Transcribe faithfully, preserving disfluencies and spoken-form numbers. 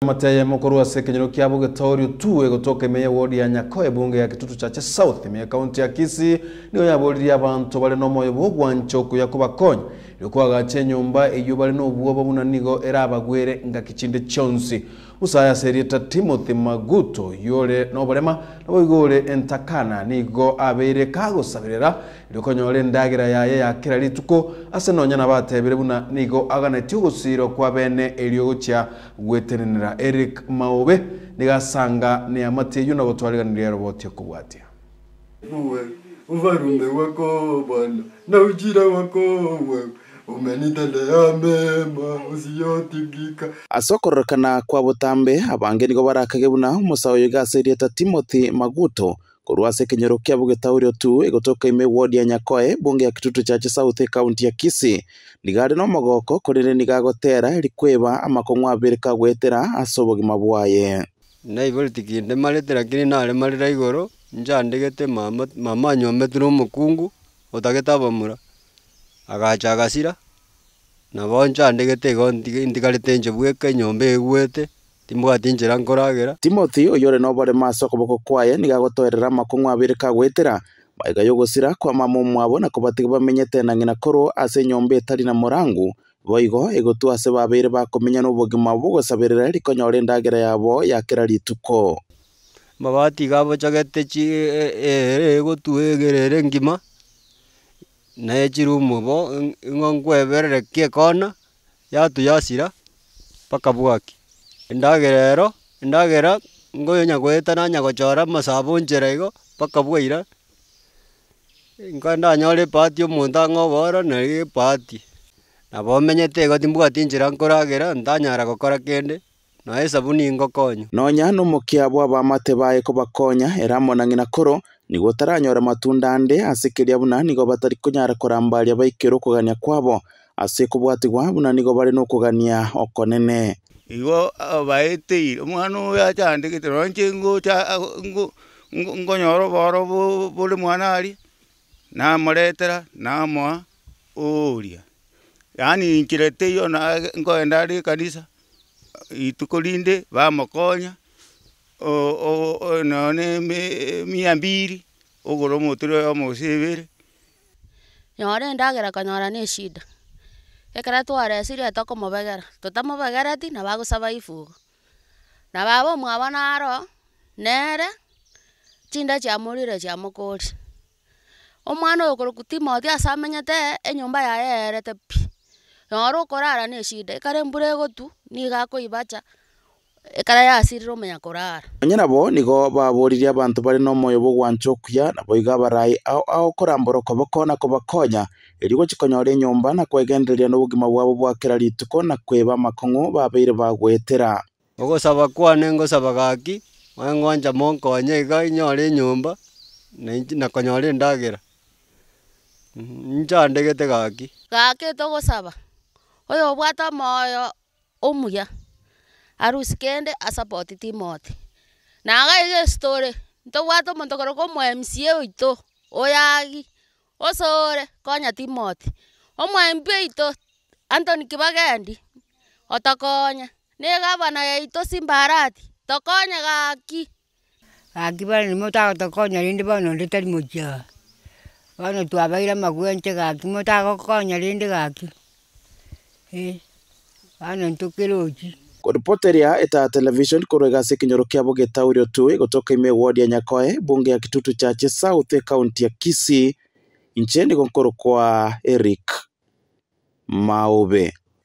Mataya mukuru wa sekenyero kia buge Taurio tuwe kutoka meya wodi ya Nyakoe bunge ya Kitutu Chache South meya kaunti ya Kisii niyo yabuliri abantu bale no moyo bw'ogwanchoku yakubakonya yokuwa gache nyumba iyo bale no bwoba bunanigo era abagwere nga kichinde chonsi usaya serieta Timothy Maguto yole no balema nabo igole entakana nigo abeire kago sabirera ilokonyole ndagira yaye yakira lituko ase nonya nabatebere buna nigo agana tugusiro kwa bene eliogocha gwetenenera Eric Maobe nigasanga ni amateyo na gutwariganira roboti kubwatia uwe uvarume wako bwana na ujira wako wewe umenitendea mema usiyotigika asokorokana kwa butambe abange nigo barakagebuna umusawo yigaserieta Timothy Maguto kurwa sekenyero kia buge Taurio tu egotoka ime wodi ya Nyakoe bunge ya Kitutu Chache South county ya Kisii nigade no mogoko kurire nigagotera erikweba amakongwa abere kagwetera asobogi mabwaye na ibolitiki ndemaletera kini nale malira igoro njandegete mama mama nyometro mukungu otageta bamura agacha agasira na bonja ndegete go ndikalete nje bweka nyombe egwete timbwati njera nkoragera Timothy oyore no bare maso koboko kwaye nigagotorera makongwa abere kagwetera baiga yogosira kwa mama mwabo na kubatiga bamenyete na ngina koro ase nyombe tari na morangu boigo egotu ase babere bakomenya no bogima bugosaberera rikonyore ndagera yabo yakira lituko mabati gabo chagete chi egotu egerere ngima na echirumu bo ngongweberere kie kona yatu yasira paka bwaki ndagerero ndagera ngoyonya gweta nanya gochora masabo njerego paka bwira nganda nyore pati omuntu ngobora na pati nabomenyete go timbwati njira nkoragera ndanyara gokora kende na esabuni ngokonya nonya no mukiabo abamate baye ko bakonya eramona ngina koro nigo taranyora matunda ande asekeria buna nigo batari kunyara korambaria baikero kugania kwabo ase kubwatigwa buna nigo bari no kugania okonene igo baete umwana ya chande kitoronche ngo cha ngo nyoro boro bole mwana ali na moretera na mo oria yani nkirete yo na ngo endari kanisa itukolinde ba makonya o o no ne mia mbiri ogoro motoro yo mosebere nyore ndagera kanyora ne shida ekara tware siria toko mobegera tutamobegera ti na bagusaba ifugo na babo mwabana aro nere chinda cha murire cha mukori omwana okoro Timothy asamenyete enyumba yaye erete pi nyoro korara ne shida ekare mbure gotu ni gakoibacha ekara yasiriro menya korara nyina bo nigo baburiria abantu bari no moyo bw'ogwanchokuya na boiga barai ao ao koramboro kobokona kobakonya erigo chikonyore nyumba na kwegenderia no bugima bwabo bwakira lituko na kweba makongo babeire bagwetera ogosaba kwane ngosaba gaki wangwanja monko wanyega nyore nyumba na konyore ndagera njandegete gaki gaki togosaba oyo bwata moyo omuya arusi kende asapoti Timothy na gaige story nto bwata omonto koroko mo M C A oito oyagi osore konya Timothy omo M P ito Anthony Kibagendi otakonya ne gavana ya ito Simbarati tokonya gaki gaki bali mota tokonya rinde bano ndetari moja bano twabaira magwenche gaki mota gokonya rinde gaki eh bano ntokeroji Reporteria eta television korega sekenyoro kia buge Taurio tu gotoka ime wodi ya Nyakoe bunge ya Kitutu Chache South county ya Kisii ncheni konkoro kwa Eric Maobe.